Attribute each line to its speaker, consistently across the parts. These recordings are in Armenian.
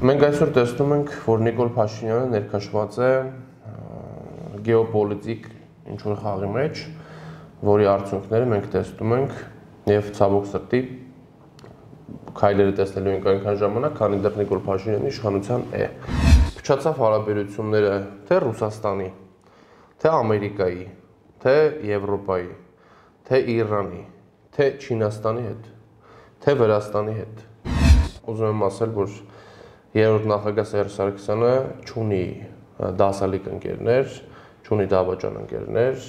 Speaker 1: Մենք այսօր տեսնում ենք, որ Նիկոլ Փաշինյանը ներկայացված է գեոպոլիտիկ ինչ-որ խաղի մեջ, որի արդյունքները մենք տեսնում ենք եւ ցավոք սրտի քայլերը տեսնելու ենք այնքան ժամանակ, քանի դեռ Նիկոլ Փաշինյանի իշխանության է։ Փչացավ հարաբերությունները թե Ռուսաստանի, թե Ամերիկայի, թե Եվրոպայի, թե Իրանի, թե Չինաստանի հետ, թե Վրաստանի հետ։ Ուզում եմ ասել, որ երրորդ նախագահ Սերժ Սարգսյանը չունի դասալիկ ընկերներ, չունի դավաճան ընկերներ,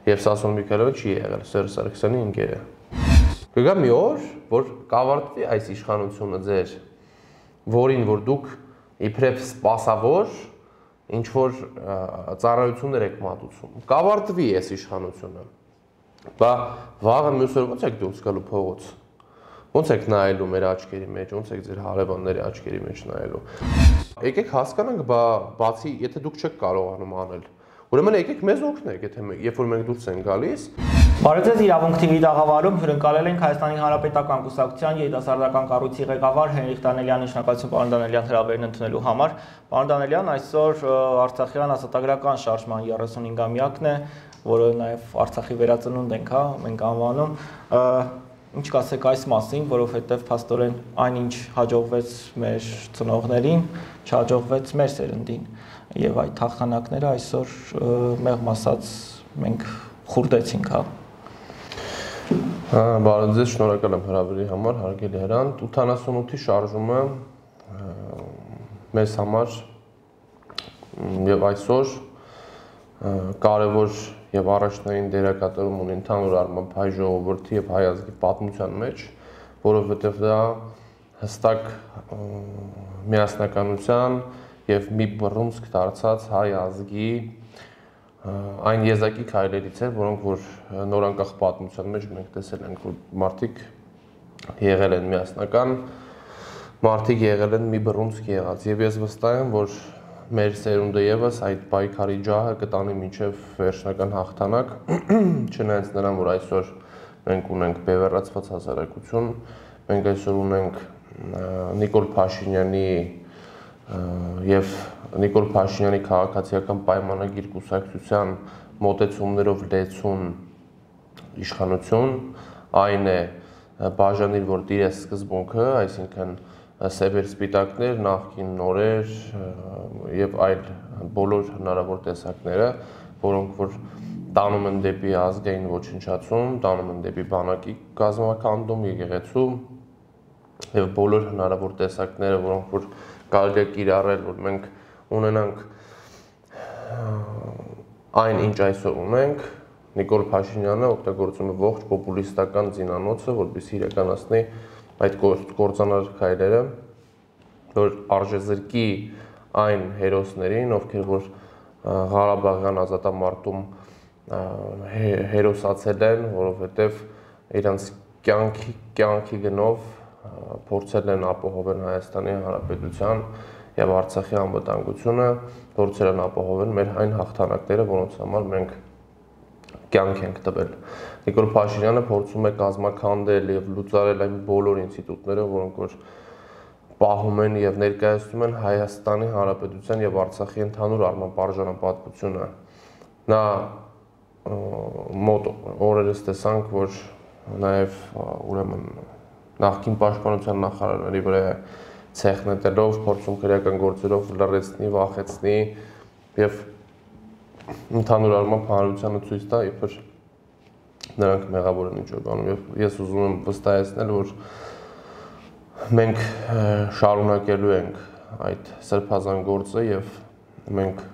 Speaker 1: եւ Սասուն Միքայելյանը չի եղել Սերժ Սարգսյանի ընկերը։ Կգա մի օր, որ կավարտվի այս իշխանությունը ձեր, որին որ դուք իբրև սպասավոր ինչ որ ծառայություններ եք մատուցում։ Կավարտվի այս իշխանությունը։ Բա վաղը մյուս օր ո՞նց եք դուրս գալու փողոց։ Ոնց եք նայելու մեր աչքերի մեջ, ոնց եք ձեր հարևանների աչքերի մեջ նայելու։ Եկեք հասկանանք, բացի, եթե դուք չեք կարողանում անել, ուրեմն եկեք մեզ օգնեք, եթե երբ որ մենք դուրս ենք գալիս։
Speaker 2: Բարև ձեզ, Իրավունք TV տաղավարում հյուրընկալել ենք Հայաստանի Հանրապետական Կուսակցության երիտասարդական կառույցի ղեկավար Հենրիխ Դանելյանի շնորհակալություն պարոն Դանելյան հրավերն ընդունելու համար։ Պարոն Դանելյան, այսօր Արցախյան ազատագրական շարժման 35-ամյակն է, որը նաև Արցախի վերածնունդ ենք, մենք անվանում։ Ինչ կասեք այս մասին, որովհետև փաստորեն այնինչ հաջողվեց մեր ծնողներին, չհաջողվեց մեր սերնդին, եւ այդ հաղթանակները այսօր մեղմ ասած մենք խուրդեցինք, հա։
Speaker 1: Բարև ձեզ, շնորհակալ եմ հրավերի համար, հարգելի հրանտ։ 88-ի շարժումը մեզ համար եւ այսօր կարևոր եւ առաջնային դերակատարում ունի ընդհանուր առմամբ հայ ժողովրդի եւ հայ ազգի պատմության մեջ, որովհետեւ դա հստակ միասնականության եւ մի բռունցք դարձած հայ ազգի այն եզակի քայլերից է, որոնք որ նորանկախ պատմության մեջ մենք տեսել ենք, որ մարդիկ եղել են միասնական, մարդիկ եղել են մի բռունցք եղած եւ ես վստահ եմ, որ մեր սերունդը եւս այդ պայքարի ջահը կտանի մինչեւ վերջնական հաղթանակ, չնայած նրան, որ այսօր մենք ունենք բևեռացված հասարակություն, մենք այսօր ունենք Նիկոլ Փաշինյանի եւ Նիկոլ Փաշինյանի քաղաքացիական պայմանագիր կուսակցության մոտեցումներով լեցուն իշխանություն, այն է բաժանիր, որ դիրես սկզբունքը, այսինքն սևեր սպիտակներ, նախկին նորեր եւ այլ բոլոր հնարավոր տեսակները, որոնք որ տանում են դեպի ազգային ոչնչացում, տանում են դեպի բանակի կազմակերպում, եկեղեցու եւ բոլոր հնարավոր տեսակները, որոնք որ կարելի է կիրառել, որ մենք ունենանք այն ինչ այսօր ունենք, Նիկոլ Փաշինյանը օգտագործում է ողջ պոպուլիստական զինանոցը, որպեսզի իրականացնի այդ կործանար քայլերը, որ արժեզրկի այն հերոսներին, ովքեր որ Ղարաբաղյան ազատամարտում հերոսացել են, որովհետև իրանց կյանքի գնով փորձել են ապահովել Հայաստանի Հանրապետության եւ Արցախի անվտանգությունը, փորձել են ապահովել մեր այն հաղթանակները, որոնց համար մենք կյանք ենք տվել։ Նիկոլ Փաշինյանը փորձում է կազմաքանդել եւ լուծարել այն բոլոր ինստիտուտները, որոնք որ պահում են եւ ներկայացնում են Հայաստանի Հանրապետության եւ Արցախի ընդհանուր առմամբ արժանապատվությունը։ Նա մոտ օրերս տեսանք, որ նաեւ ուրեմն նախկին պաշտպանության նախարարների վրա ցեխ նետելով, փորձում քրեական գործերով լրացնի, վախեցնի եւ ընդհանուր առմամբ հանրությանը ցույց տա, իբր նրանք մեղավոր են ինչ-որ բանում եւ ես ուզում եմ վստահեցնել, որ մենք շարունակելու ենք այդ սրբազան գործը եւ մենք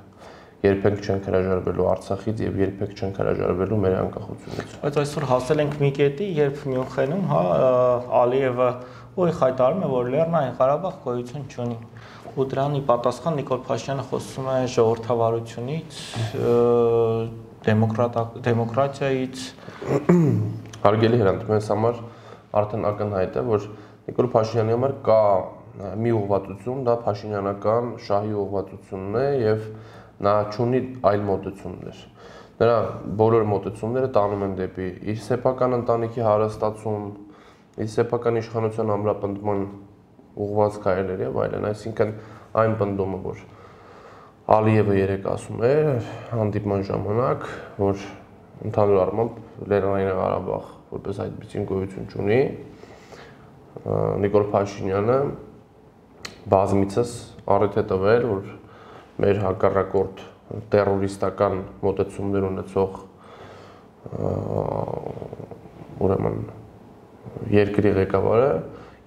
Speaker 1: երբեք չենք հրաժարվելու Արցախից եւ երբեք չենք հրաժարվելու մեր անկախությունից։
Speaker 2: Բայց այսօր հասել ենք մի կետի, երբ Մյունխենում, հա, Ալիևը ուղիղ հայտարարում է, որ Լեռնային Ղարաբաղ գոյություն չունի։ Ու դրանի պատասխան Նիկոլ Փաշինյանը խոսում է ժողովրդավարությունից, դեմոկրատիայից։
Speaker 1: Հարգելի հրանտ, մեզ համար արդեն ակնհայտ է, որ Նիկոլ Փաշինյանի համար կա մի ուղղվածություն, դա փաշինյանական շահի ուղղվածությունն է եւ նա չունի այլ մոտեցումներ։ Նրա բոլոր մոտեցումները տանում են դեպի իր սեփական ընտանիքի հարստացում, իր սեփական իշխանության ամրապնդման ուղղված քայլեր եւ այլն, այսինքն այն բնդումը, որ Ալիևը երեք ասում էր հանդիպման ժամանակ, որ ընդհանուր առմամբ Լեռնային Ղարաբաղ որպես այդպիսին գոյություն չունի, Նիկոլ Փաշինյանը բազմիցս առիթ է տվել, որ մեր հակառակորդ տերորիստական մոտեցումներ ունեցող ուրեմն երկրի ղեկավարը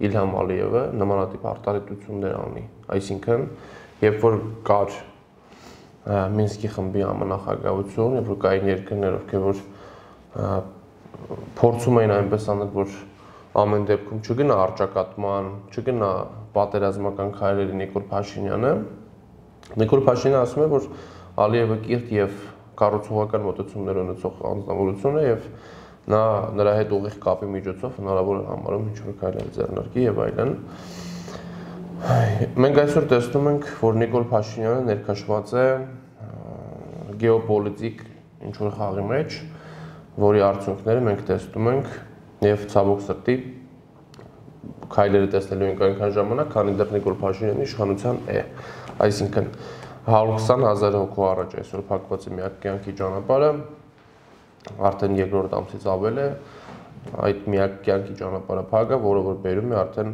Speaker 1: Իլհամ Ալիևը նմանատիպ արտահայտություններ անի, այսինքն երբ որ կար Մինսկի խմբի համանախագահություն, երբ որ կային երկրներ, ովքեր որ փորձում էին այնպես անել, որ ամեն դեպքում չգնա առճակատման, չգնա պատերազմական քայլերի Նիկոլ Փաշինյանը ասում է, որ Ալիևը կիրթ եւ կառուցողական մոտեցումներ ունեցող անձնավորություն է եւ նրա հետ ուղիղ կապի միջոցով հնարավոր է համարում ինչ-որ քայլեր ձեռնարկի եւ այլն։ Մենք այսօր տեսնում ենք, որ Նիկոլ Փաշինյանը ներքաշված է գեոպոլիտիկ ինչ-որ խաղի մեջ, որի արդյունքները մենք տեսնում ենք եւ ցավոք սրտի քայլերը տեսնելու ենք այնքան ժամանակ, քանի դեռ Նիկոլ Փաշինյանի իշխանության է։ Այսինքն 120,000 հոգու առաջ այսօր փակված է միակ կյանքի ճանապարհը, արդեն երկրորդ ամսից ավել է այդ միակ կյանքի ճանապարհը փակը, որը որ բերում է արդեն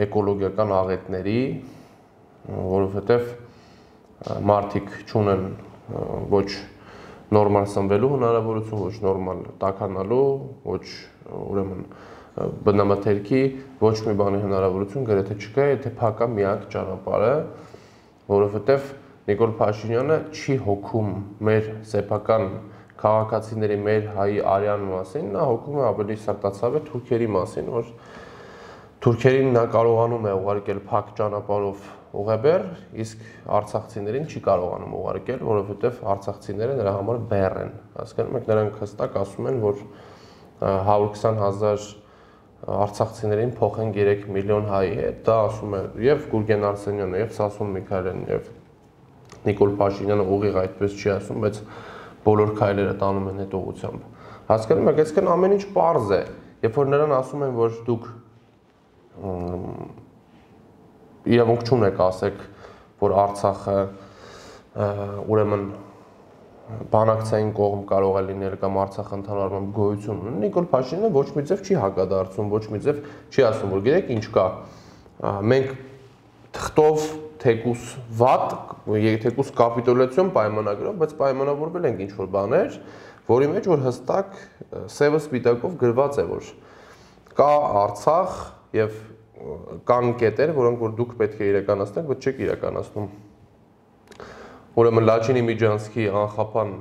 Speaker 1: էկոլոգիական աղետների, որովհետև մարդիկ չունեն ոչ նորմալ սնվելու հնարավորություն, ոչ նորմալ տաքանալու, ոչ ուրեմն բնամթերքի, ոչ մի բանի հնարավորություն գրեթե չկա, եթե փակա միակ ճանապարհը, որովհետև Նիկոլ Փաշինյանը չի հոգում մեր սեփական քաղաքացիների, մեր հայի արյան մասին, նա հոգում է ավելի սրտացավ է թուրքերի մասին, որ թուրքերին նա կարողանում է ուղարկել փակ ճանապարհով ուղեբեր, իսկ արցախցիներին չի կարողանում ուղարկել, որովհետև արցախցիները նրա համար բեռ են։ Հասկանում եք, նրանք հստակ ասում են, որ 120,000 արցախցիներին փոխեն 3 միլիոն հայի հետ, դա ասում է եւ Գուրգեն Արսենյանը, եւ Սասուն Միքայելյանը, եւ Նիկոլ Փաշինյանը ուղիղ այդպես չի ասում, բայց բոլոր քայլերը տանում են այդ ուղղությամբ։ Հասկանում եք, այսինքն ամեն ինչ պարզ է, երբ որ նրան ասում են, որ դուք իրավունք չունեք ասեք, որ Արցախը ուրեմն բանակցային կողմ կարող է լինել կամ Արցախը ընդհանուր առմամբ գոյություն ունի, Նիկոլ Փաշինյանը ոչ մի ձև չի հակադարձում, ոչ մի ձև չի ասում, որ գիտեք ինչ կա, մենք թղթով թեկուս վատ, թեկուս կապիտուլյացիոն պայմանագրով, բայց պայմանավորվել ենք ինչ-որ բաներ, որի մեջ որ հստակ սևը սպիտակով գրված է, որ կա Արցախ եւ կան կետեր, որոնք որ դուք պետք է իրականացնեք, բայց չեք իրականացնում։ Ուրեմն Լաչինի Միջանցքի անխափան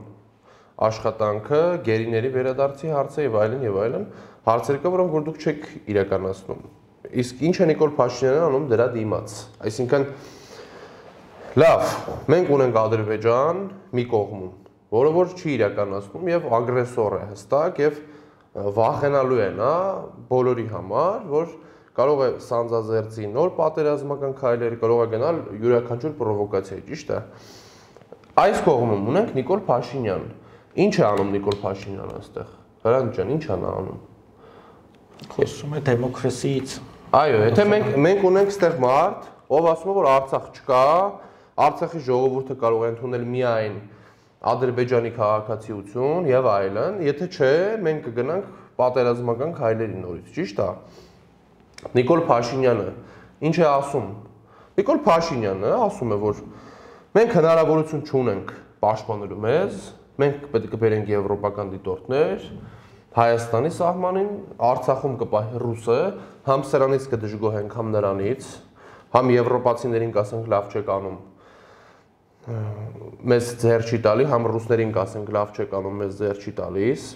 Speaker 1: աշխատանքը, գերիների վերադարձի հարցը եւ այլն, հարցեր կա, որոնք որ դուք չեք իրականացնում։ Իսկ ինչ է Նիկոլ Փաշինյանը անում դրա դիմաց։ Այսինքն լավ, մենք ունենք Ադրբեջան մի կողմում, որը որ չի իրականացնում եւ ագրեսոր է հստակ եւ վախենալու է նա բոլորի համար, որ կարող է սանձազերծի նոր պատերազմական քայլեր, կարող է գնալ յուրաքանչյուր պրովոկացիայի, ճիշտ է։ Այս կողմում ունենք Նիկոլ Փաշինյան։ Ինչ է անում Նիկոլ Փաշինյանը այստեղ։ Հրանտ ջան, ինչ է նա անում։
Speaker 2: Խոսում է դեմոկրատիայից։
Speaker 1: Այո, եթե մենք ունենք այստեղ մարդ, ով ասում է, որ Արցախ չկա, Արցախի ժողովուրդը կարող է ընդունել միայն Ադրբեջանի քաղաքացիություն եւ այլն, եթե չէ, մենք կգնանք պատերազմական քայլերի նորից, ճիշտ է։ Նիկոլ Փաշինյանը ինչ է ասում։ Նիկոլ Փաշինյանը ասում է, որ մենք հնարավորություն չունենք պաշտպանելու մեզ, մենք պետք է բերենք եվրոպական դիտորդներ, Հայաստանի սահմանին, Արցախում կպահի ռուսը, համ սրանից կդժգոհենք, համ նրանից, համ եվրոպացիներին կասենք լավ չեք անում, մեզ ձեռ չի տալի, համ ռուսներին կասենք լավ չեք անում, մեզ ձեռ չի տալիս։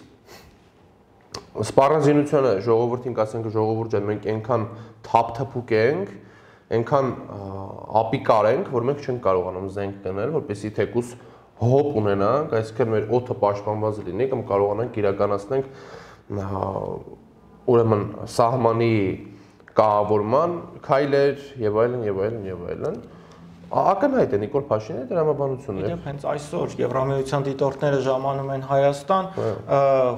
Speaker 1: Սպառազինությունը ժողովրդին կասենք ժողովուրդ ջան, մենք այնքան թափթփուկ ենք, այնքան ապիկար ենք, որ մենք չենք կարողանում զենք գնել, որպեսզի թեկուս հոп ունենանք, այսինքն մեր օդը պաշտպանված լինի կամ կարողանանք իրականացնենք ուրեմն սահմանի կառավարման քայլեր եւ այլն։ Ակնհայտ է Նիկոլ Փաշինյանի դրամաբանությունը։
Speaker 2: Իդեպ հենց այսօր Եվրամիության դիտորդները ժամանում են Հայաստան,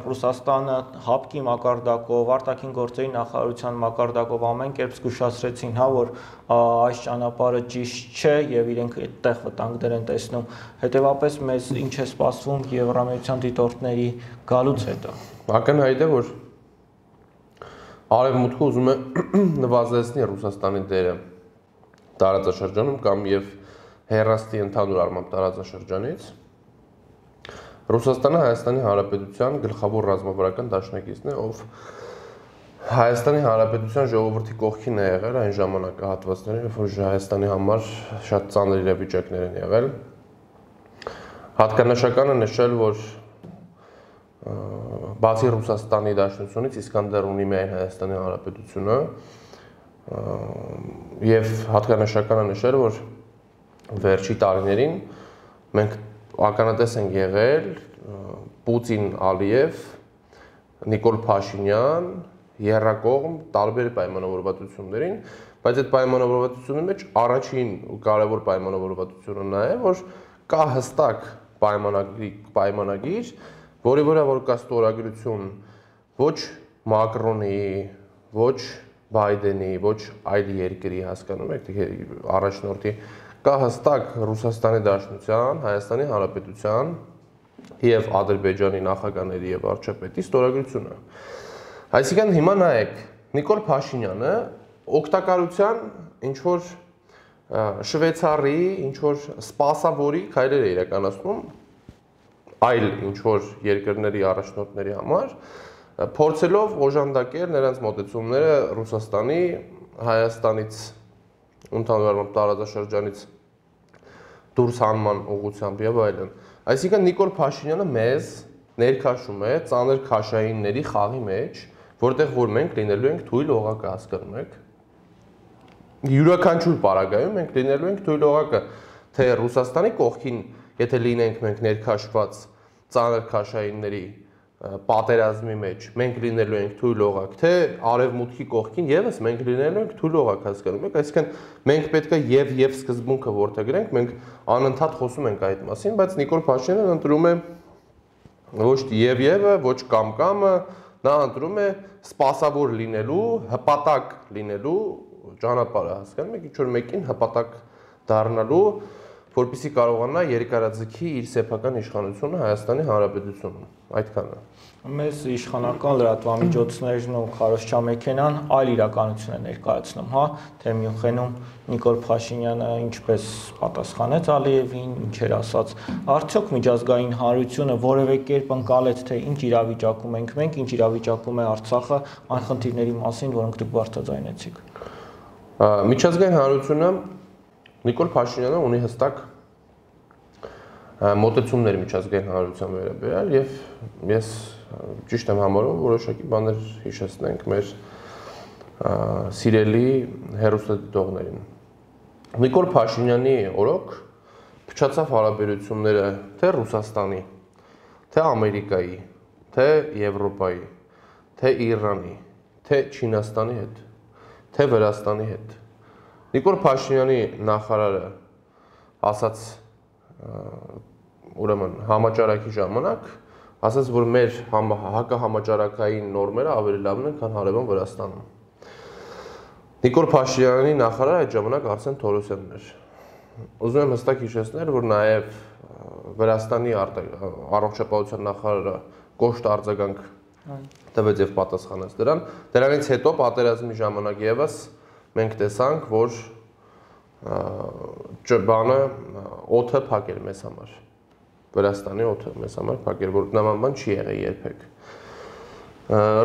Speaker 2: Ռուսաստանը հապկի մակարդակով, արտաքին գործերի նախարարության մակարդակով ամեն կերպ զգուշացրեցին, հա, որ այս ճանապարհը ճիշտ չէ եւ իրենք այդտեղ վտանգներ են տեսնում։ Հետևաբար մեզ ինչ է սպասվում Եվրամիության դիտորդների գալուց հետո։
Speaker 1: Ակնհայտ է, որ Արևմուտքը ուզում է նվազեցնել Ռուսաստանի դերը տարածաշրջանում կամ եւ հեռաստի ընդհանուր առմամբ տարածաշրջանից։ Ռուսաստանը Հայաստանի Հանրապետության գլխավոր ռազմավարական դաշնակիցն է, ով Հայաստանի Հանրապետության ժողովրդի կողքին է եղել այն ժամանակահատվածներին, երբ որ Հայաստանի համար շատ ծանր իրավիճակներ են եղել։ Հատկանշական է նշել, որ բացի Ռուսաստանի Դաշնությունից Իսկանդեր ունի միայն Հայաստանի Հանրապետությունը եւ հատկանշական է նշել, որ վերջի տարիներին մենք ականատես ենք եղել Պուտին-Ալիև, Նիկոլ Փաշինյան, երրակողմ տարբեր պայմանավորվածություններին, բայց այդ պայմանավորվածությունների մեջ առաջին ու կարևոր պայմանավորվածությունը նա է, որ կա հստակ պայմանագիր, որի վրա որ կա ստորագրություն ոչ Մակրոնի, ոչ Բայդենի, ոչ այլ երկրի, հասկանում եք, առաջնորդի, կա հստակ Ռուսաստանի Դաշնության, Հայաստանի Հանրապետության եւ Ադրբեջանի նախագահների եւ վարչապետի ստորագրությունը։ Այսինքն հիմա նայեք, Նիկոլ Փաշինյանը օգտակարության ինչ որ Շվեյցարի, ինչ որ սպասավորի քայլեր է իրականացնում այլ ինչ որ երկրների առաջնորդների համար, փորձելով օժանդակել նրանց մոտեցումները Ռուսաստանի, Հայաստանից, ընդհանուր առմամբ տարածաշրջանից դուրս հանման ուղղությամբ եւ այլն։ Այսինքն Նիկոլ Փաշինյանը մեզ ներքաշում է ծանր քաշայինների խաղի մեջ, որտեղ որ մենք լինելու ենք թույլ օղակը, հասկանում եք։ Յուրաքանչյուր պարագայում մենք լինելու ենք թույլ օղակը, թե Ռուսաստանի կողքին, եթե լինենք մենք ներքաշված ծանր քաշայինների պատերազմի մեջ, մենք լինելու ենք թույլ օղակ, թե արևմուտքի կողքին եւս մենք լինելու ենք թույլ օղակ, հասկանում եք, այսինքն մենք պետք է եւ սկզբունքը որդեգրենք, մենք անընդհատ խոսում ենք այդ մասին, բայց Նիկոլ Փաշինյանը ընտրում է ոչ եւը, ոչ կամկամը, նա ընտրում է սպասավոր լինելու, հպատակ լինելու ճանապարհը, հասկանում եք, ինչ որ մեկին հպատակ դառնալու, որպեսզի կարողանա երկարաձգի իր սեփական իշխանությունը Հայաստանի Հանրապետությունում, այդքանը։
Speaker 2: Մեզ իշխանական լրատվամիջոցներն ու քարոզչամեքենան այլ իրականություն է ներկայացնում, հա, թե Մյունխենում Նիկոլ Փաշինյանը ինչպես պատասխանեց Ալիևին, ինչ էր ասած, արդյոք միջազգային հանրությունը որևէ կերպ ընկալեց, թե ինչ իրավիճակում ենք մենք, ինչ իրավիճակում է Արցախը, այն խնդիրների մասին, որոնք դուք բարձրաձայնեցիք։
Speaker 1: Միջազգային հանրությունը Նիկոլ Փաշինյանը ունի հստակ մոտեցումներ միջազգային հանրության վերաբերյալ եւ ես ճիշտ եմ համարում որոշակի բաներ հիշեցնենք մեր սիրելի հեռուստադիտողներին։ Նիկոլ Փաշինյանի օրոք փչացավ հարաբերությունները թե Ռուսաստանի, թե Ամերիկայի, թե Եվրոպայի, թե Իրանի, թե Չինաստանի հետ, թե Վրաստանի հետ։ Նիկոլ Փաշինյանի նախարարը ասաց ուրեմն համաճարակի ժամանակ ասաց, որ մեր հակահամաճարակային նորմերը ավելի լավն են, քան հարևան Վրաստանում։ Նիկոլ Փաշինյանի նախարարը այդ ժամանակ Արսեն Թորոսյանն էր։ Ուզում եմ հստակ հիշեցնել, որ նաև Վրաստանի առողջապահության նախարարը կոշտ արձագանք տվեց եւ պատասխանեց դրան։ Դրանից հետո պատերազմի ժամանակ եւս մենք տեսանք, որ բանը օդը փակել մեզ համար։ Վրաստանի օդը մեզ համար փակել, որ նման բան չի եղել երբեք։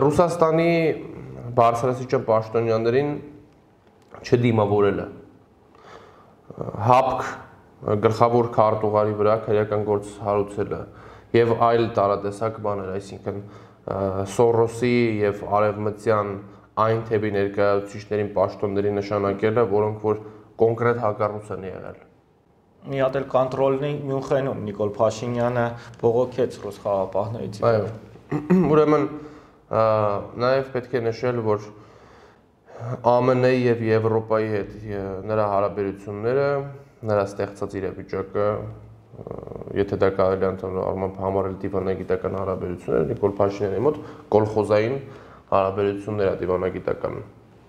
Speaker 1: Ռուսաստանի բարձրաստիճան պաշտոնյաներին չդիմավորելը, հապկ գլխավոր քարտուղարի վրա քրեական գործ հարուցելը եւ այլ տարատեսակ բաներ, այսինքն Սորոսի եւ արևմտյան այն թեպի ներկայացուցիչներին պաշտոնների նշանակելը, որոնք որ կոնկրետ հակառույց են եղել։
Speaker 2: Մի հատ էլ կոնտրոլնի Մյունխենում Նիկոլ Փաշինյանը բողոքեց ռուս խաղաղապահներից։
Speaker 1: Այո։ Ուրեմն նաև պետք է նշել, որ ԱՄՆ-ի եւ Եվրոպայի հետ նրա հարաբերությունները նրա ստեղծած իրավիճակը, եթե դա կարելի է ընդհանրապես համարել դիվանագիտական հարաբերություններ, Նիկոլ Փաշինյանի մոտ կոլխոզային հարաբերություններ է դիվանագիտական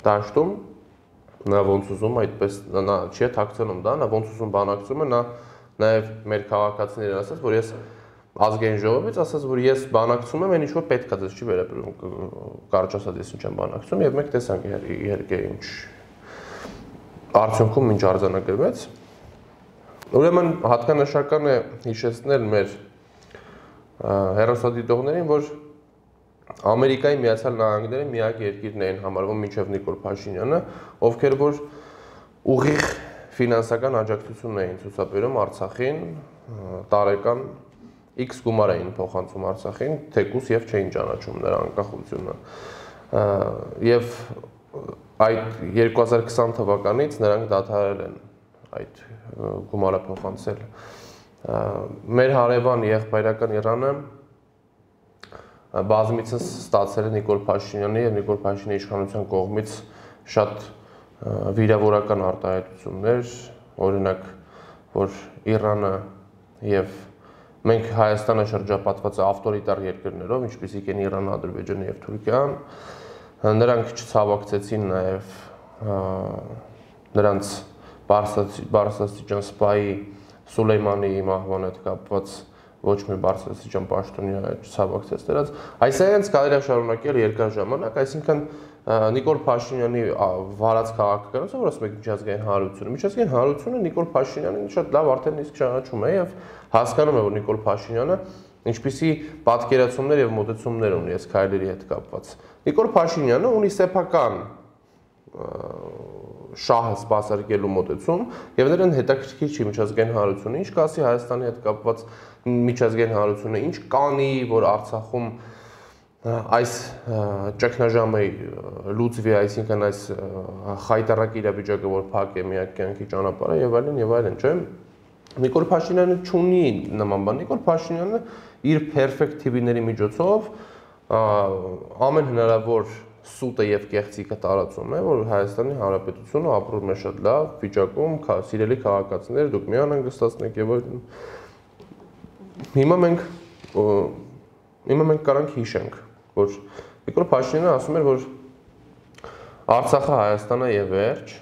Speaker 1: դաշտում, նա ոնց ուզում այդպես նա չի թաքցնում դա, նա ոնց ուզում բանակցում է, նա նաև մեր քաղաքացիներին ասաց, որ ես ազգային ժողովից ասաց, որ ես բանակցում եմ, այն ինչ որ պետք է դες չի վերաբերում, կարճ ասած ես ինչ եմ բանակցում, եւ մենք տեսանք իհարկե ինչ արդյունքում ինչ արձանագրվեց։ Ուրեմն հատկանշական է հիշեցնել մեր հեռուստադիտողներին, որ Ամերիկայի Միացյալ Նահանգները միակ երկիրն էին համարվում մինչև Նիկոլ Փաշինյանը, ովքեր որ ուղիղ ֆինանսական աջակցություն էին ցուցաբերում Արցախին, տարեկան X գումար էին փոխանցում Արցախին, թեկուզ եւ չէին ճանաչում նրա անկախությունը։ Եվ այդ 2020 թվականից նրանք դադարել են այդ գումարը փոխանցել։ Մեր հարևան եղբայրական Իրանը բազմիցս ստացել է Նիկոլ Փաշինյանի եւ Նիկոլ Փաշինյանի իշխանության կողմից շատ վիրավորական արտահայտություններ, օրինակ, որ Իրանը եւ մենք Հայաստանը շրջապատված է ավտորիտար երկրներով, ինչպիսիք են Իրանը, Ադրբեջանը եւ Թուրքիան, նրանք չցավակցեցին նաեւ նրանց բարձրաստիճան սպայի Սուլեյմանի մահվան հետ կապված ոչ մի բարձրաստիճան պաշտոնյա չցավակցեց դրանց։ Այսինքն կարելի է շարունակել երկար ժամանակ, այսինքն Նիկոլ Փաշինյանի վարած քաղաքականությունը, որ ասում եք միջազգային հանրությունը, միջազգային հանրությունը Նիկոլ Փաշինյանին շատ լավ արդեն իսկ ճանաչում է եւ հասկանում է, որ Նիկոլ Փաշինյանը ինչպիսի պատկերացումներ եւ մոտեցումներ ունի այս քայլերի հետ կապված։ Նիկոլ Փաշինյանը ունի սեփական շահը սպասարկելու մոտեցում եւ նրան հետաքրքիր չի միջազգային հանրությունը, ինչ կասի Հայաստանի հետ կապված միջազգային հանրությունը, ինչ կանի, որ Արցախում այս ճգնաժամը լուծվի, այսինքն այս խայտարակ իրավիճակը, որ փակ է միակ կյանքի ճանապարհը եւ այլն, չէ՞։ Նիկոլ Փաշինյանը չունի նման բան, Նիկոլ Փաշինյանը իր perfect TV-ների միջոցով ամեն հնարավոր սուտը եւ կեղծիկը տարածում է, որ Հայաստանի Հանրապետությունը ապրում է շատ լավ վիճակում, սիրելի քաղաքացիներ, դուք մի անհանգստացնեք եւ այլն։ Հիմա մենք կարանք հիշենք, որ Նիկոլ Փաշինյանը ասում էր, որ Արցախը Հայաստանը եւ վերջ։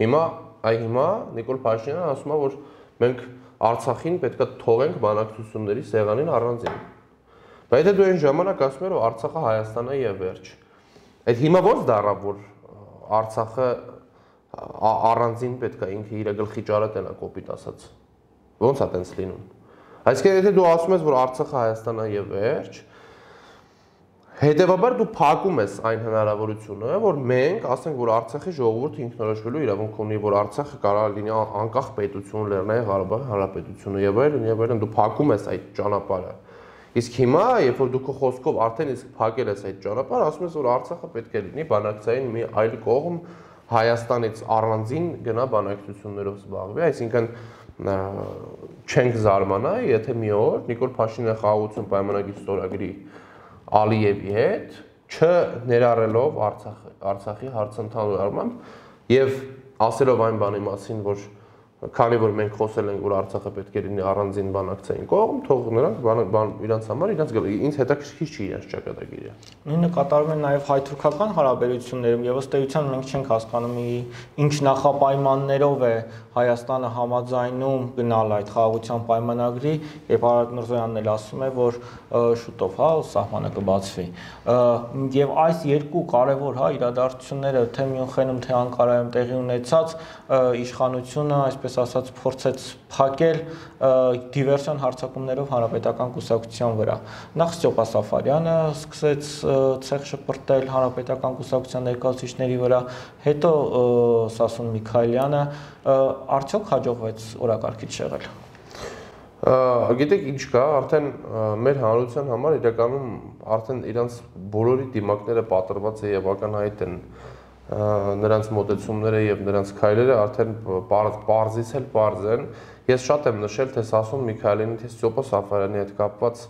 Speaker 1: Հիմա Նիկոլ Փաշինյանը ասում է, որ մենք Արցախին պետք է թողենք բանակցությունների սեղանին առանձին։ Բայց եթե դու այն ժամանակ ասում ես, որ Արցախը Հայաստանը եւ վերջ, այդ հիմա ո՞նց դառավ, որ Արցախը առանձին պետք է ինքը իր գլխի ճարը տենա կոպիտ ասած։ Ո՞նց է տենց լինում։ Այսինքն եթե դու ասում ես, որ Արցախը Հայաստանը եւ վերջ, հետեւաբար դու փակում ես այն հնարավորությունը, որ մենք ասենք, որ Արցախի ժողովուրդը ինքնորոշվելու իրավունք ունի, որ Արցախը կարող լինի անկախ պետություն, Լեռնային Ղարաբաղի Հանրապետությունը եւ այլն, դու փակում ես այդ ճանապարհը։ Իսկ հիմա, երբ որ դու քո խոսքով արդեն իսկ փակել ես այդ ճանապարհը, ասում ես, որ Արցախը պետք է լինի բանակցային մի այլ կողմ, Հայաստանից առանձին գնա բանակցություններով զբաղվի, այսինքն չենք զարմանա, եթե մի օր Նիկոլ Փաշինյանը խաղաղություն պայմանագիր ստորագրի Ալիևի հետ, չներառելով Արցախի հարցը ընդհանուր առմամբ եւ ասելով այն բանի մասին, որ քանի որ մենք խոսել ենք, որ Արցախը պետք է լինի առանձին բանակցային կողմ, թող նրանք իրանց համար ինձ հետաքրքիր չի իրենց ճակատագիրը։
Speaker 2: Նույնը կատարվում է նաև հայ-թուրքական հարաբերություններում եւ ըստ էության մենք չենք հասկանում ինչ նախապայմաններով է Հայաստանը համաձայնում գնալ այդ խաղաղության պայմանագրի, եւ Արարատ Միրզոյանն էլ ասում է, որ շուտով սահմանը կբացվի։ Եվ այս երկու կարևոր իրադարձությունները թե Մյունխենում, թե Անկարայում տեղի ունեցած իշխանությունը, այսպես ասած, փորձեց փակել դիվերսիոն հարձակումներով հանրապետական կուսակցության վրա։ Նախ Ստյոպա Սաֆարյանը սկսեց ցեղ շպրտել հանրապետական կուսակցության ներկայացուցիչների վրա, հետո Սասուն Միքայելյանը, արդյոք հաջողվեց օրակարգից շեղել։
Speaker 1: Գիտեք ինչ կա, արդեն մեր հանրության համար իրականում արդեն իրանց բոլորի դիմակները պատրված է եւ ակնհայտ են նրանց մոտեցումները եւ նրանց քայլերը արդեն պարզից էլ պարզ են։ Ես շատ եմ նշել, թե Սասուն Միքայելյանի, թե Ստյոպա Սաֆարյանի հետ կապված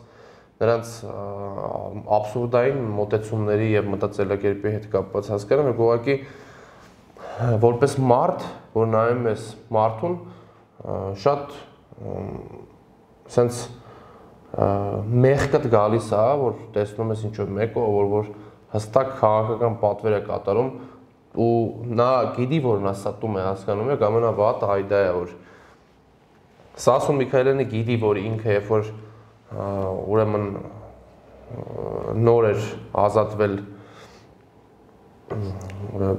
Speaker 1: նրանց աբսուրդային մոտեցումների եւ մտածելակերպի հետ կապված հասկանում եք, ուղղակի որպես մարդ, որ նայում ես մարդուն, շատ sense մեղքդ գալիս է, որ տեսնում ես ինչ-որ մեկը, որ հստակ քաղաքական պատվեր է կատարում ու նա գիտի, որ նա ստում է, հասկանում է, ամենավատը այ դա է, որ Սասուն Միքայելյանը գիտի, որ ինքը երբ որ ուրեմն նոր էր ազատվել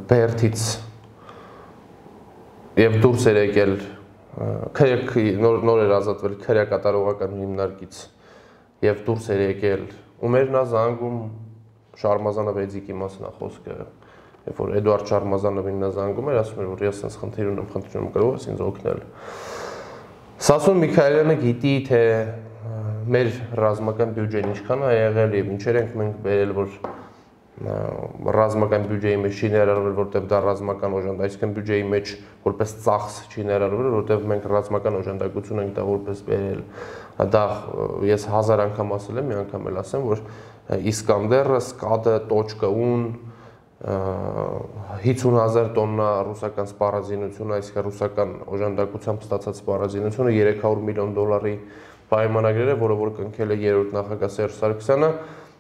Speaker 1: Բերթից եւ դուրս էր եկել նոր էր ազատվել քրեակատարողական հիմնարկից եւ դուրս էր եկել ու մեր նա զանգում Շարմազանովի մասին է խոսքը երբ որ Էդուարդ Շարմազանովին նա զանգում էր ասում էր որ ես sense խնդիր ունեմ կարող ես ինձ օգնել Սասուն Միքայելյանը գիտի թե մեր ռազմական բյուջեն ինչքան է եղել եւ ինչեր ենք մենք բերել որ ռազմական բյուջեի մեջ չի ներառվել, որտեղ դա ռազմական օժանդ, այսինքն բյուջեի մեջ որպես ծախս չի ներառվել, որտեղ մենք ռազմական օժանդակություն ենք դա որպես բերել։ Դա ես 1000 անգամ ասել եմ, մի անգամ էլ ասեմ, որ Իսկանդերը, Սկադը, Տոչկաուն 50,000 տոննա ռուսական սպառազինություն, այսինքն ռուսական օժանդակությամբ ստացած սպառազինությունը 300 միլիոն դոլարի պայմանագրեր է, որը որ կնքել է երրորդ նախագահ Սերժ Սարգսյանը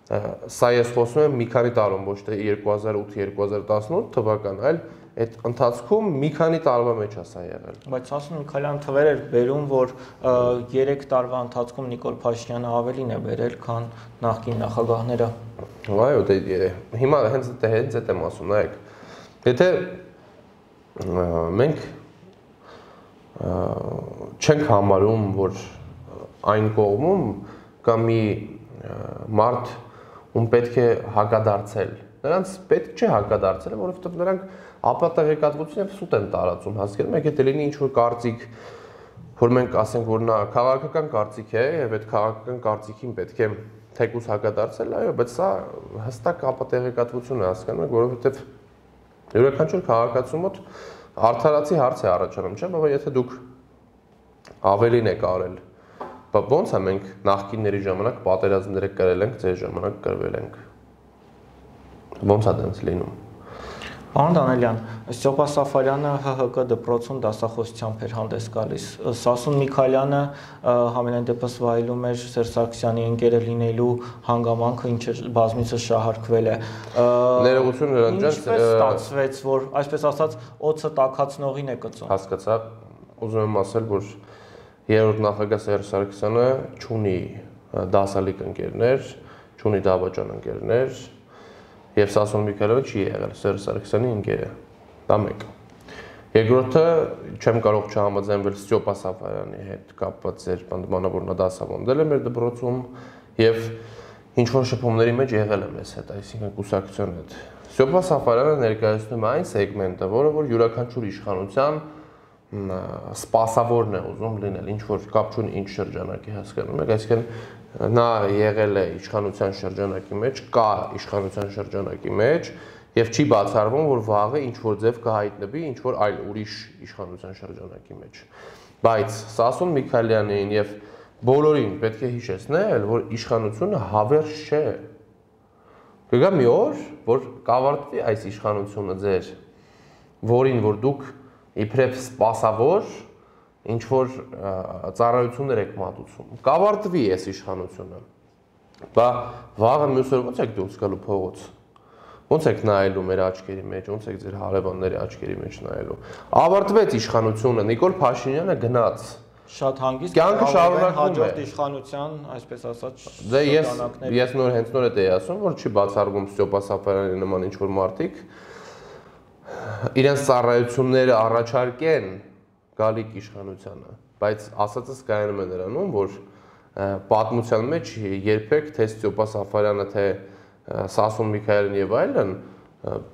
Speaker 1: Սա ես խոսում եմ մի քանի տարում, ոչ թե 2008-2018 թվական, այլ այդ ընթացքում մի քանի տարվա մեջ է սա եղել։
Speaker 2: Բայց Սասուն Միքայելյանը թվեր էր բերում, որ 3 տարվա ընթացքում Նիկոլ Փաշինյանը ավելին է բերել, քան նախկին նախագահները։
Speaker 1: Այո, դե հիմա հենց այդ եմ ասում, նայեք։ Եթե մենք չենք համարում, որ այն կողմում կա մի մարդ ում պետք է հակադարձել։ Նրանց պետք չէ հակադարձել, որովհետև նրանք ապատեղեկատվություն եւ սուտ են տարածում, հասկանում եք, եթե լինի ինչ-որ կարծիք, որ մենք ասենք, որ նա քաղաքական կարծիք է եւ այդ քաղաքական կարծիքին պետք է թեկուզ հակադարձել, այո, բայց սա հստակ ապատեղեկատվություն է, հասկանում եք, որովհետև յուրաքանչյուր քաղաքացու մոտ արդարացի հարց է առաջանում, չէ՞, բայց եթե դուք ավելին եք արել Ոնց է մենք նախկինների ժամանակ պատերազմները կրել ենք, ձեր ժամանակ կրվել ենք։ Ոնց է դրանց լինում։
Speaker 2: Պարոն Դանելյան, Ստյոպա Սաֆարյանը ՀՀԿ դպրոցում դասախոսությամբ էր հանդես գալիս։ Սասուն Միքայելյանը համենայն դեպս վայելում էր Սերժ Սարգսյանի ընկերը լինելու հանգամանքը, ինչը բազմիցս շահարկվել է։
Speaker 1: Ներողություն նրան ջան,
Speaker 2: ինչպես ստացվեց, որ այսպես ասած օծը տաքացնողին է կծում։
Speaker 1: Հասկացա, ուզում եմ ասել, որ երրորդ նախագահ Սերժ Սարգսյանը չունի դասալիկ ընկերներ, չունի դավաճան ընկերներ, եւ Սասուն Միքայելյանը չի եղել Սերժ Սարգսյանի ընկերը։ Դա մեկ։ Երկրորդը չեմ կարող չհամաձայնվել Ստյոպա Սաֆարյանի հետ կապված ձեր բանավոր նա դասավանդել է մեր դպրոցում եւ ինչ որ շփումների մեջ եղել է մեզ հետ, այսինքն կուսակցության հետ։ Ստյոպա Սաֆարյանը ներկայացնում է այն սեգմենտը, որը որ յուրաքանչյուր իշխանության սպասավորն է ուզում լինել, ինչ որ կապ չունի ինչ շրջանակի, հասկանում եք, այսինքն նա եղել է իշխանության շրջանակի մեջ, կա իշխանության շրջանակի մեջ եւ չի բացառվում, որ վաղը ինչ որ ձև կհայտնվի ինչ որ այլ ուրիշ իշխանության շրջանակի մեջ։ Բայց Սասուն Միքայելյանին եւ բոլորին պետք է հիշեցնել, որ իշխանությունը հավերժ չէ։ Կգա մի օր, որ կավարտվի այս իշխանությունը ձեր, որին որ դուք իբրև սպասավոր ինչ որ ծառայություններ եք մատուցում։ Կավարտվի այս իշխանությունը։ Բա վաղը մյուս օր ո՞նց եք դուրս գալու փողոց։ Ո՞նց եք նայելու մեր աչքերի մեջ, ո՞նց եք ձեր հարևանների աչքերի մեջ նայելու։ Ավարտվեց իշխանությունը, Նիկոլ Փաշինյանը գնաց։
Speaker 2: Շատ հանգիստ
Speaker 1: կյանքը շարունակվում է։
Speaker 2: Հաջորդ իշխանության, այսպես ասած,
Speaker 1: դե ես նոր հենց նոր էի ասում, որ չի բացառվում Ստյոպա Սաֆարյանի նման ինչ որ մարդիկ իրենց ծառայությունները առաջարկեն գալիք իշխանությանը, բայց ասածս կայանում է նրանում, որ պատմության մեջ երբեք թե Ստյոպա Սաֆարյանը, թե Սասուն Միքայելյանը եւ այլն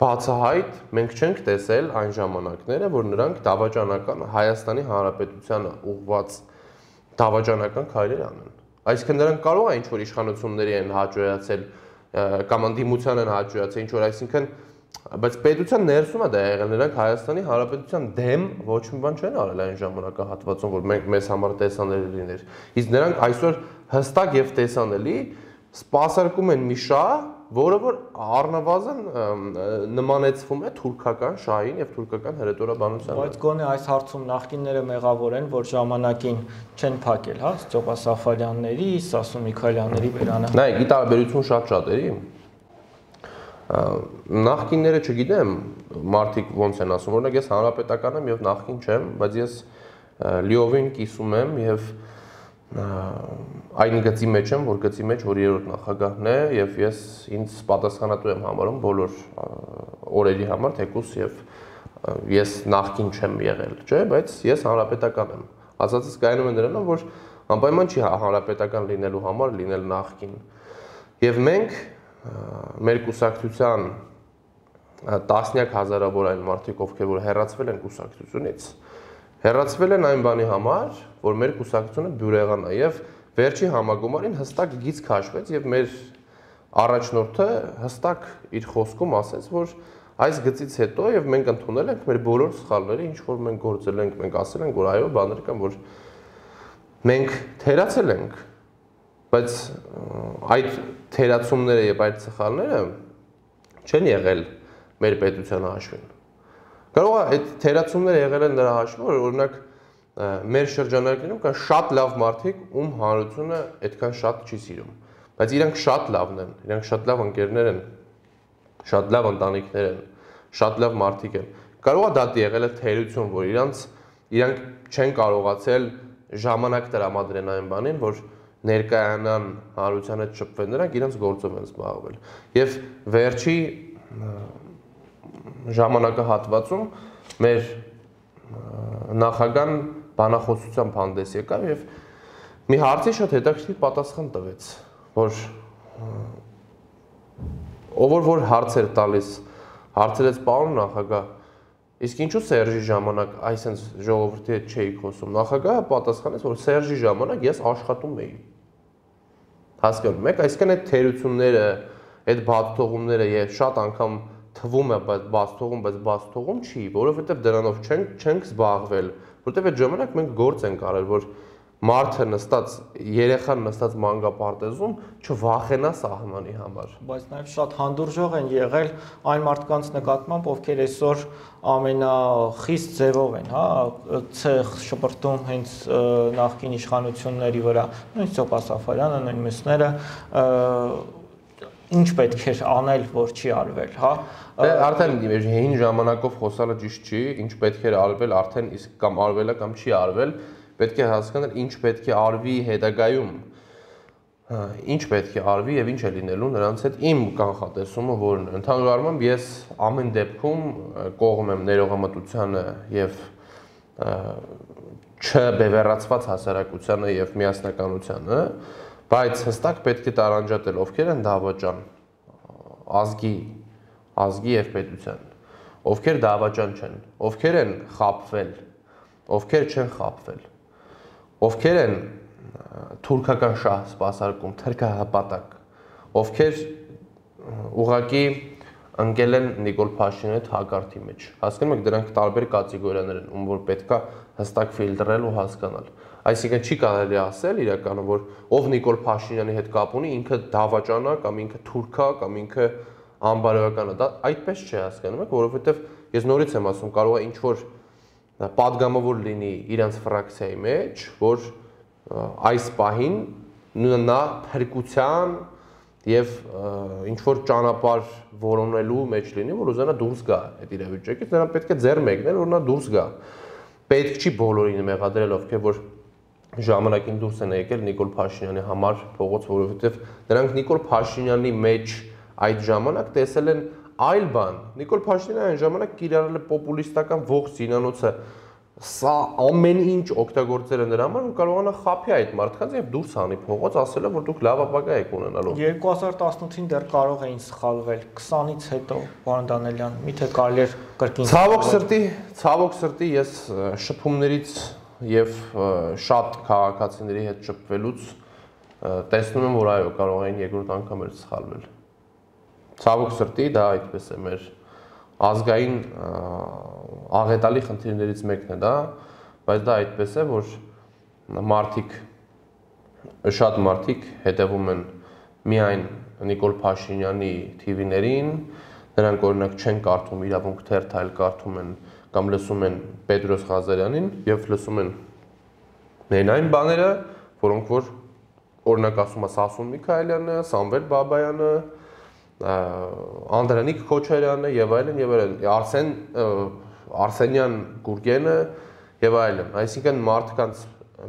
Speaker 1: բացահայտ մենք չենք տեսել այն ժամանակները, որ նրանք դավաճանական Հայաստանի Հանրապետությանը ուղղված դավաճանական քայլեր անեն։ Այսինքն նրանք կարող է ինչ որ իշխանությունների են հաջողացել կամ ընդդիմության են հաջողացել ինչ որ, այսինքն բայց պետության ներսում է դա եղել, նրանք Հայաստանի Հանրապետության դեմ ոչ մի բան չեն արել այն ժամանակահատվածում, որ մենք մեզ համար տեսանելի լիներ։ Իսկ նրանք այսօր հստակ եւ տեսանելի սպասարկում են մի շահ, որը որ առնվազն նմանեցվում է թուրքական շահին եւ թուրքական հրետորաբանությանը։
Speaker 2: Բայց գոնե այս հարցում նախկինները մեղավոր են, որ ժամանակին չեն փակել, հա, Ստեփան Սաֆարյանների, Սասուն Միքայելյանների բերանը։
Speaker 1: Նայեք, ի տարբերություն շատ-շատերի նախկինները չգիտեմ, մարդիկ ոնց են ասում, օրինակ ես հանրապետական եմ եւ նախկին չեմ, բայց ես լիովին կիսում եմ եւ այն գծի մեջ եմ, որ գծի մեջ որ երրորդ նախագահն է եւ ես ինձ պատասխանատու եմ համարում բոլոր օրերի համար, թեկուզ եւ ես նախկին չեմ եղել, չէ, բայց ես հանրապետական եմ։ Ասածս կայանում է նրանով, որ անպայման չի հանրապետական լինելու համար լինել նախկին։ Եվ մենք մեր կուսակցության տասնյակ հազարավոր այն մարդիկ, ովքեր որ հեռացվել են կուսակցությունից, հեռացվել են այն բանի համար, որ մեր կուսակցությունը բյուրեղանա եւ վերջի համագումարին հստակ գիծ քաշվեց եւ մեր առաջնորդը հստակ իր խոսքում ասեց, որ այս գծից հետո եւ մենք ընդունել ենք մեր բոլոր սխալները, ինչ որ մենք գործել ենք, մենք ասել ենք, որ այո, բաներ կան, որ մենք թերացել ենք, բայց այդ թերացումները եւ այդ սխալները չեն եղել մեր պետության հաշվին։ Կարող է այդ թերացումները եղել են նրա հաշվին, որ օրինակ մեր շրջանակներում կան շատ լավ մարդիկ, ում հանրությունը այդքան շատ չի սիրում, բայց իրանք շատ լավն են, իրանք շատ լավ ընկերներ են, շատ լավ ընտանիքներ են, շատ լավ մարդիկ են։ Կարող է դա եղել է թերություն, որ իրանք չեն կարողացել ժամանակ տրամադրեն այն բանին, որ ներկայանան հանրության հետ շփվեն, նրանք իրենց գործով են զբաղվել։ Եվ վերջի ժամանակահատվածում մեր նախագահան բանախոսությամբ հանդես եկավ եւ մի հարցի շատ հետաքրքիր պատասխան տվեց, որ ով որ հարցեր տալիս, հարցրեց պարոն նախագահ, իսկ ինչու Սերժի ժամանակ այսպես ժողովրդի հետ չէի խոսում։ Նախագահը պատասխանեց, որ Սերժի ժամանակ ես աշխատում էի։ Հասկանում եք, այսինքն այդ թերությունները, այդ բացթողումները եւ շատ անգամ թվում է, բայց բացթողում չի, որովհետեւ դրանով չենք զբաղվել, որովհետեւ այդ ժամանակ մենք գործ ենք արել, որ մարդը նստած, երեխան նստած մանկապարտեզում չվախենա սահմանի համար։
Speaker 2: Բայց նաև շատ հանդուրժող են եղել այն մարդկանց նկատմամբ, ովքեր այսօր ամենախիստ ձևով են, հա, ցեղ շպրտում հենց նախկին իշխանությունների վրա, նույն Ստեփան Սաֆարյանը, նույն մյուսները, ինչ պետք էր անել, որ չի արվել, հա։
Speaker 1: Արդեն հին ժամանակով խոսալը ճիշտ չի, ինչ պետք էր արվել, արդեն իսկ կամ արվել է կամ չի արվել, պետք է հասկանալ ինչ պետք է արվի հետագայում, ինչ պետք է արվի եւ ինչ է լինելու նրանց հետ իմ կանխատեսումը որն է։ Ընդհանուր առմամբ ես ամեն դեպքում կողմ եմ ներողամտությանը եւ չբևեռացված հասարակությանը եւ միասնականությանը, բայց հստակ պետք է տարանջատել ովքեր են դավաճան ազգի եւ պետության, ովքեր դավաճան չեն, ովքեր են խաբվել, ովքեր չեն խաբվել, ովքեր են թուրքական շահ սպասարկում, թրքահպատակ, ովքեր ուղղակի ընկել են Նիկոլ Փաշինյանի հետ հակարդի մեջ։ Հասկանում եք, դրանք տարբեր կատեգորիաներ են, ում որ պետքա հստակ ֆիլտրել ու հասկանալ։ Այսինքն չի կարելի ասել իրականում, որ ով Նիկոլ Փաշինյանի հետ կապ ունի, ինքը դավաճան է կամ ինքը թուրք է կամ ինքը անբարոյական է։ Դա այդպես չի, հասկանում եք, որովհետև ես նորից եմ ասում, կարող է ինչ որ պատգամավոր լինի իրանց ֆրակցիայի մեջ, որ այս պահին նա փրկության եւ ինչ որ ճանապարհ որոնելու մեջ լինի, որ ուզենա դուրս գա այդ իրավիճակից, նրան պետք է ձեռ մեկնել, որ նա դուրս գա։ Պետք չի բոլորին մեղադրել, ովքեր որ ժամանակին դուրս են եկել Նիկոլ Փաշինյանի համար փողոց, որովհետեւ նրանք Նիկոլ Փաշինյանի մեջ այդ ժամանակ տեսել են այլ բան։ Նիկոլ Փաշինյանը այն ժամանակ կիրառել է պոպուլիստական ողջ զինանոցը, սա ամեն ինչ օգտագործել է նրա համար ու կարողանա խափի այդ մարդկանց եւ դուրս հանի փողոց, ասել է, որ դուք լավ ապագա եք ունենալու։
Speaker 2: 2018-ին դեռ կարող էին սխալվել, 20-ից հետո, պարոն Դանելյան, միթե կարելի էր կրկին։
Speaker 1: Ցավոք սրտի ես շփումներից եւ շատ քաղաքացիների հետ շփվելուց տեսնում եմ, որ այո, կարող էին երկրորդ անգամ էլ սխալվել։ Ցավոք սրտի դա այդպես է, մեր ազգային աղետալի խնդիրներից մեկն է դա, բայց դա այդպես է, որ շատ մարդիկ հետևում են միայն Նիկոլ Փաշինյանի TV-ներին, նրանք օրինակ չեն կարդում իրավունք թերթ, այլ կարդում են կամ լսում են Պետրոս Ղազարյանին եւ լսում են այն բաները, որոնք որ օրինակ ասում է Սասուն Միքայելյանը, Սամվել Բաբայանը, Անդրանիկ Քոչարյանը եւ այլն, Արսենյան Գուրգենը եւ այլն։ Այսինքն մարդկանց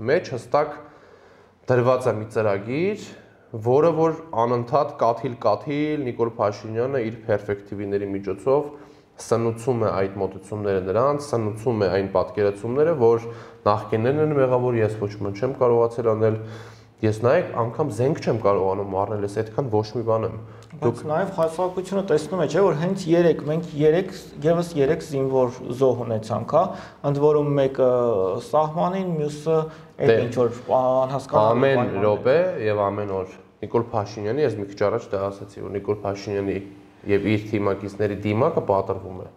Speaker 1: մեջ հստակ դրված է մի ծրագիր, որը որ անընդհատ կաթիլ Նիկոլ Փաշինյանը իր պերսպեկտիվների միջոցով սնուցում է այդ մոտեցումները նրանց, սնուցում է այն պատկերացումները, որ նախկիններն են մեղավոր, ես ոչ մի չեմ կարողացել անել, ես նայեք անգամ զենք չեմ կարողանում առնել, ես այդքան ոչ մի բան եմ։
Speaker 2: Բայց նաև հասարակությունը տեսնում է, չէ՞, որ հենց մենք եւս 3 զինվոր զոհ ունեցանք, հա, ընդ որում մեկը սահմանին, մյուսը այդ ինչ որ անհասկանալի
Speaker 1: ամեն րոպե եւ ամեն օր Նիկոլ Փաշինյանի, ես մի քիչ առաջ դա ասացի, որ Նիկոլ Փաշինյանի եւ իր թիմակիցների դիմակը պատրվում է։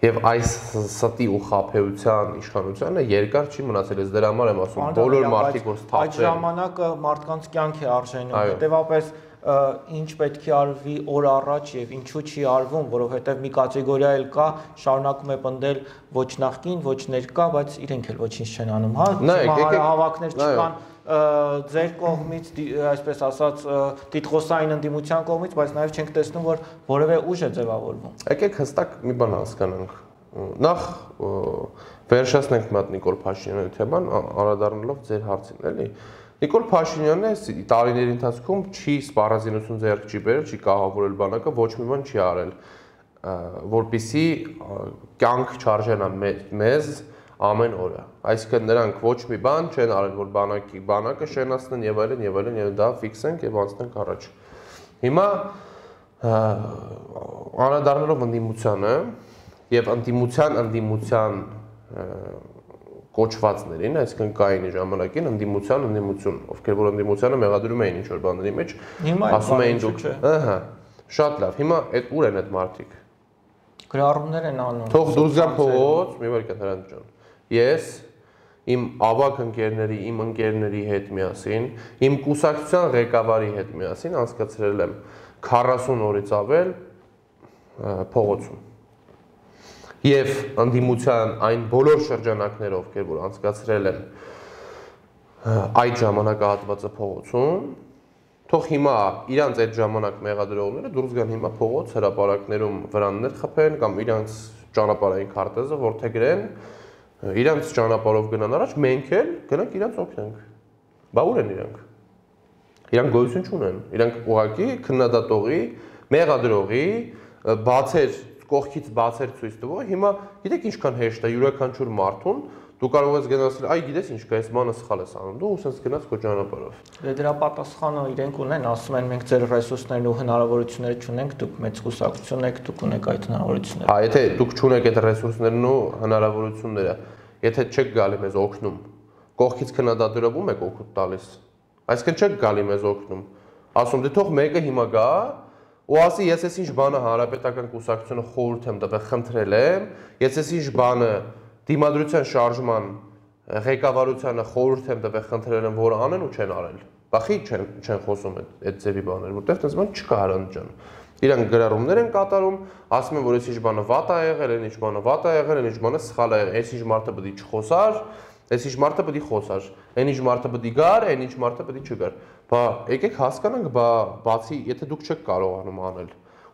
Speaker 1: Եվ այս ստի ու խաբեության իշխանությունը երկար չի մնացել, ես դրա համար եմ ասում, բոլոր մարդիկ որ սթափել։
Speaker 2: Այդ ժամանակը մարդկանց կյանք է արժենում, հետեւապես ինչ պետք է արվի օր առաջ եւ ինչու չի արվում, որովհետեւ մի կատեգորիա էլ կա, շարունակում է պնդել ոչ նախկին, ոչ ներկա, բայց իրենք էլ ոչինչ չեն անում, հա, հավաքներ չկան ձեր կողմից, այսպես ասած, տիտղոսային ընդդիմության կողմից, բայց նաև չենք տեսնում, որ որևէ ուժ է ձևավորվում։
Speaker 1: Եկեք հստակ մի բան հասկանանք։ Նախ վերջացնենք մի հատ Նիկոլ Փաշինյանի թեման, անդրադառնալով ձեր հարցին, էլի։ Նիկոլ Փաշինյանը տարիների ընթացքում չի սպառազինություն ձեռք չի բերել, չի կահավորել բանակը, ոչ մի բան չի արել, որպեսզի կյանք չարժենա մեզ ամեն օրը։ Այսինքն նրանք ոչ մի բան չեն արել, որ բանակը շենացնեն եւ այլն, դա ֆիքսենք եւ անցնենք առաջ։ Հիմա անդրադառնալով ընդդիմությանը եւ ընդդիմության կոչվածներին, այսինքն կային ժամանակին ընդդիմություն, ովքեր որ ընդդիմությանը մեղադրում էին ինչ որ բաների մեջ, ասում էին դուք, ահա, շատ լավ։ Հիմա այդ ուր են այդ մարդիկ։
Speaker 2: Գրառումներ են անում։
Speaker 1: Թող դուրս գան փողոց, մի վարքան Հրանտ ջան։ Ես իմ ավակ ընկերների, իմ ընկերների հետ միասին, իմ կուսակցության ղեկավարի հետ միասին անցկացրել եմ 40 օրից ավել փողոցում։ Եվ ընդդիմության այն բոլոր շրջանակներով, ովքեր որ անցկացրել են այդ ժամանակահատվածը փողոցում, թող հիմա իրանց այդ ժամանակ մեղադրողները դուրս գան հիմա փողոց հրապարակներում վրաններ խփեն կամ իրանց ճանապարհային քարտեզը ворթեգրեն, իրանց ճանապարհով գնան առաջ, մենք էլ գնանք իրանց օգնենք։ Բա ուր են իրանք։ Իրանք գոյություն չունեն։ Իրանք ուղղակի քննադատողի, մեղադրողի, բացեր կողքից բացեր ցույց տվող, հիմա գիտեք ինչքան հեշտ է յուրաքանչյուր մարդուն, դու կարող ես գնաս, այ գիտես ինչ կա, այս բանը սխալ ես անում, դու ուսած գնաս քո ճանապարհով։
Speaker 2: Դրա պատասխանը իրենք ունեն, ասում են մենք ձեր ռեսուրսներն ու հնարավորությունները չունենք, դուք մեծ կուսակցություն եք, դուք ունեք այդ հնարավորությունները։
Speaker 1: Հա, եթե դուք չունեք այդ ռեսուրսներն ու հնարավորությունները, եթե չեք գալի մեզ օգնում, կողքից քննադատելով ում եք օգուտ տալիս։ Այսինքն չեք գալի մեզ օգնում։ Ասում դե թող մեկը հիմա գա ու ասի ես էս ինչ բանը հանրապետական կուսակցությունը խորհուրդ եմ տվել, խնդրել եմ, ես էս ինչ բանը դիմադրության շարժման ղեկավարությանը խորհուրդ եմ տվել, խնդրել եմ, որ անեն ու չեն արել։ Բախի չեն խոսում այդ ձևի բաներ, որտեղ այդպես բան չկա Հրանտ ջան։ Իրանք գրառումներ են կատարում, ասում են, որ այս ինչ բանը վատ է եղել, այն ինչ բանը վատ է եղել, այն ինչ բանը սխալ է եղել, այս ինչ մարդը պետք է չխոսար, այս ինչ մարդը պետք է խոսար, այն ինչ մարդը պետք է գար, այն ինչ մարդը պետք է չգար։ Բա եկեք հասկանանք, բա բացի, եթե դուք չեք կարողանում անել,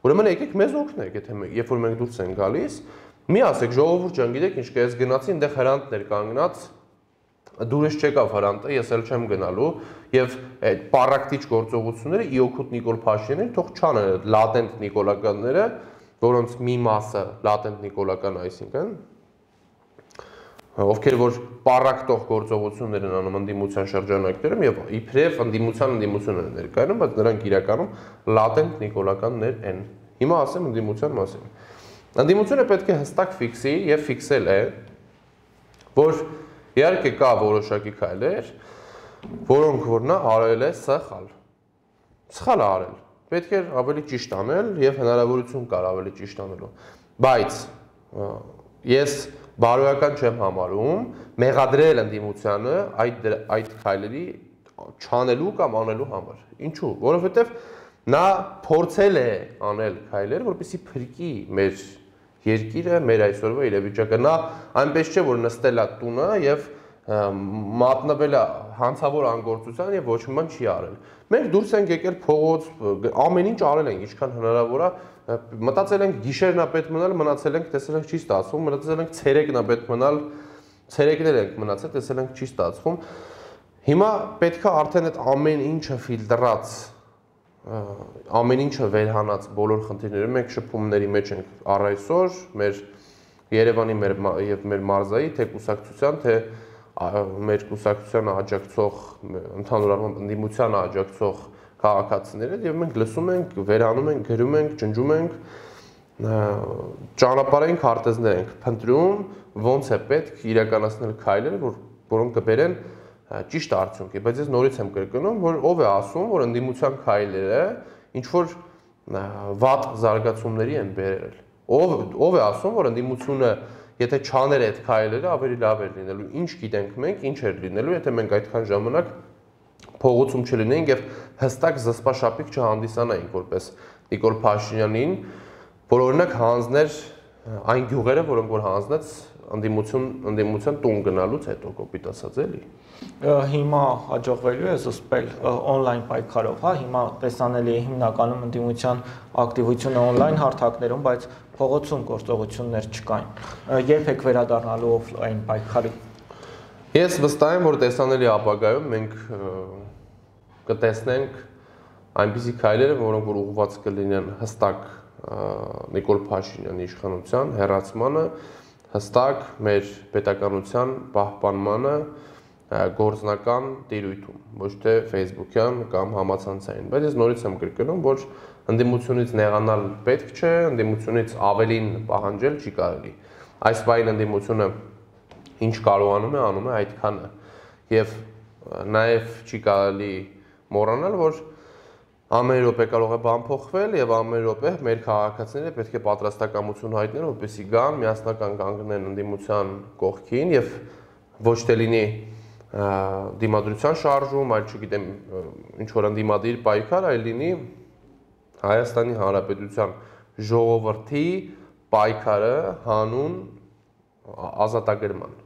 Speaker 1: ուրեմն եկեք մեզ օգնեք, եթե երբ որ մենք դուրս ենք գալիս, մի ասեք ժողովուրդ ջան, գիտեք ինչ կա, ես գնացի, այնտեղ Հրանտներ կանգնած, դուրս չեկավ Հրանտը, ես էլ չեմ գնալու, եւ այդ պարակտիչ գործողությունները ի օգուտ Նիկոլ Փաշինյանին թող չանեն լատենտ նիկոլականները, որոնց մի մասը լատենտ նիկոլական, այսինքն ովքեր որ պարակտող գործողություններ են անում ընդդիմության շրջանակներում եւ իբրև ընդդիմություն են ներկայանում, բայց նրանք իրականում լատենտ նիկոլականներ են։ Հիմա ասեմ ընդդիմության մասին։ Ընդդիմությունը պետք է հստակ ֆիքսի եւ ֆիքսել է, որ իհարկե կա որոշակի քայլեր, որոնք որ նա արել է սխալ։ Սխալ է արել։ Պետք է ավելի ճիշտ անել եւ հնարավորություն կար ավելի ճիշտ անելու։ Բայց ես բարոյական չեմ համարում մեղադրել ընդդիմությանը այդ քայլերի չանելու կամ անելու համար։ Ինչու՞։ Որովհետեւ Նա փորձել է անել քայլեր, որպեսզի փրկի մեր երկիրը, մեր այսօրվա իրավիճակը։ Նա այնպես չէ, որ նստել է տունը եւ մատնվել է հանցավոր անգործության եւ ոչ մի բան չի արել։ Մենք դուրս ենք եկել փողոց, ամեն ինչ արել ենք, ինչքան հնարավոր է, մտածել ենք գիշերն է պետք մնալ, մնացել ենք, տեսել ենք չի ստացվում, մտածել ենք ցերեկն է պետք մնալ, ցերեկներ ենք մնացել, տեսել ենք չի ստացվում։ Հիմա պետք է արդեն այդ ամեն ինչը ֆիլտրած, ամեն ինչը վերհանած բոլոր խնդիրները մենք շփումների մեջ ենք առ այսօր, մեր Երևանի եւ մեր մարզայի թե կուսակցության, թե մեր կուսակցությանը աջակցող, ընդհանուր առմամբ ընդդիմությանը աջակցող քաղաքացիները եւ մենք լսում ենք, վերանում ենք, գրում ենք, ջնջում ենք, ճանապարհային քարտեզներ ենք փնտրում, ոնց է պետք իրականացնել քայլերը, որոնք կբերեն ճիշտ արդյունքի, բայց ես նորից եմ կրկնում, որ ով է ասում, որ ընդդիմության քայլերը ինչ որ վատ զարգացումների են բերել։ Ով է ասում, որ ընդդիմությունը եթե չաներ այդ քայլերը, ավելի լավ էր լինելու։ Ինչ գիտենք մենք, ինչ էր լինելու, եթե մենք այդքան ժամանակ փողոցում չլինեինք եւ հստակ զսպաշապիկ չհանդիսանայինք որպես Նիկոլ Փաշինյանին, որ օրինակ հանձներ այն գյուղերը, որոնք որ հանձնեց ընդդիմության տուն գնալուց հետո կոպիտ ասած էլի։
Speaker 2: Հիմա հաջողվելու է զսպել on-line պայքարով, հա, հիմա տեսանելի է հիմնականում ընդդիմության ակտիվությունը on-line հարթակներում, բայց փողոցում գործողություններ չկային։ Երբ եք վերադառնալու off-line պայքարի։
Speaker 1: Ես վստահ եմ, որ տեսանելի ապագայում մենք կտեսնենք այնպիսի քայլերը, որոնք որ ուղղված կլինեն հստակ Նիկոլ Փաշինյանի իշխանության հեռացմանը, հստակ մեր պետականության պահպանմանը գործնական տիրույթում, ոչ թե Facebook-յան կամ համացանցային։ Բայց ես նորից եմ կրկնում, որ ընդդիմությունից նեղանալ պետք չէ, ընդդիմությունից ավելին պահանջել չի կարելի։ Այս բային ընդդիմությունը ինչ կարողանում է, անում է այդքանը։ Եվ նաև չի կարելի մոռանալ, որ ամեն րոպե կարող է բան փոխվել եւ ամեն րոպե մեր քաղաքացիները պետք է պատրաստակամություն հայտնեն, որպեսզի գան, միասնական կանգնեն ընդդիմության կողքին եւ ոչ թե լինի դիմադրության շարժում, այլ չգիտեմ, ինչ որ ընդդիմադիր պայքար, այլ լինի Հայաստանի Հանրապետության ժողովրդի պայքարը հանուն ազատագրման։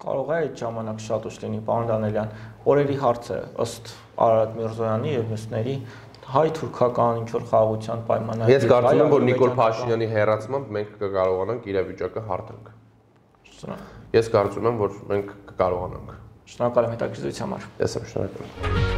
Speaker 2: Կարող է այդ ժամանակ շատ ուշ լինի, պարոն Դանելյան, օրերի հարց է ըստ Արարատ Միրզոյանի եւ մյուսների հայ-թուրքական ինչ-որ խաղաղության պայմանագրի։
Speaker 1: Ես կարծում եմ, որ Նիկոլ Փաշինյանի հեռացմամբ մենք կկարողանանք իրավիճակը հարթենք։ Ես կարծում եմ, որ մենք կկարողանանք։
Speaker 2: Շնորհակալ եմ հետաքրքրության համար։
Speaker 1: Ես եմ շնորհակալ։